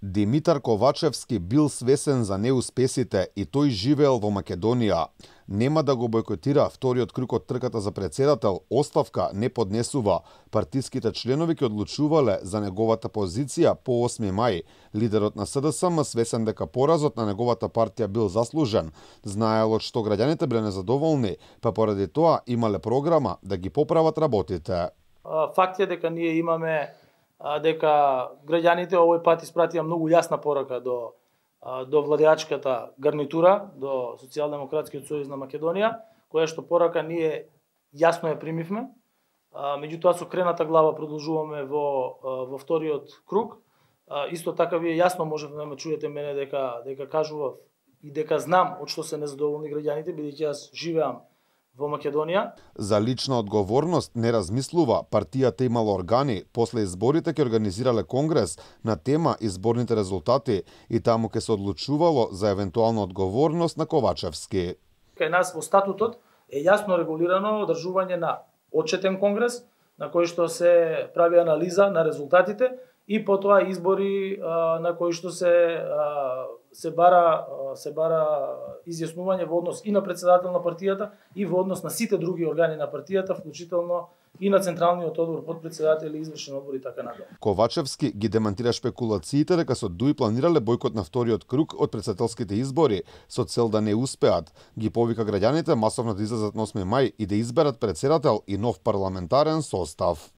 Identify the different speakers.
Speaker 1: Димитар Ковачевски бил свесен за неуспесите и тој живеел во Македонија. Нема да го бойкотира вториот круг од трката за претседател, оставка не поднесува. Партиските членови ќе одлучувале за неговата позиција по 8 мај. Лидерот на СДСМ свесен дека поразот на неговата партија бил заслужен. Знаело што граѓаните биле незадоволни, па поради тоа имале програма да ги поправат работите.
Speaker 2: Факт е дека ние имаме дека граѓаните овој пат испратија многу јасна порака до владеачката гарнитура, до Социјалдемократскиот сојуз на Македонија, која што порака ние јасно ја примивме. Меѓутоа со крената глава продолжуваме во вториот круг. Исто така вие јасно можете да ме чуете мене дека кажував и дека знам од што се незадоволни граѓаните, бидејќи јас живеам во Македонија.
Speaker 1: За лична одговорност не размислува. Партијата имала органи, после изборите ќе организирале конгрес на тема изборните резултати и таму ќе се одлучувало за евентуална одговорност на Ковачевски.
Speaker 2: Кај нас во статутот е јасно регулирано одржување на отчетен конгрес на кој што се прави анализа на резултатите и потоа избори на кои што се бара изјаснување во однос и на председател на партијата и во однос на сите други органи на партијата, вклучително и на Централниот одбор, подпредседатели, извршен одбор и така натаму.
Speaker 1: Ковачевски ги демантира шпекулациите дека со ДУИ планирале бойкот на вториот круг од претседателските избори со цел да не успеат. Ги повика граѓаните масовно да излезат на 8 мај и да изберат претседател и нов парламентарен состав.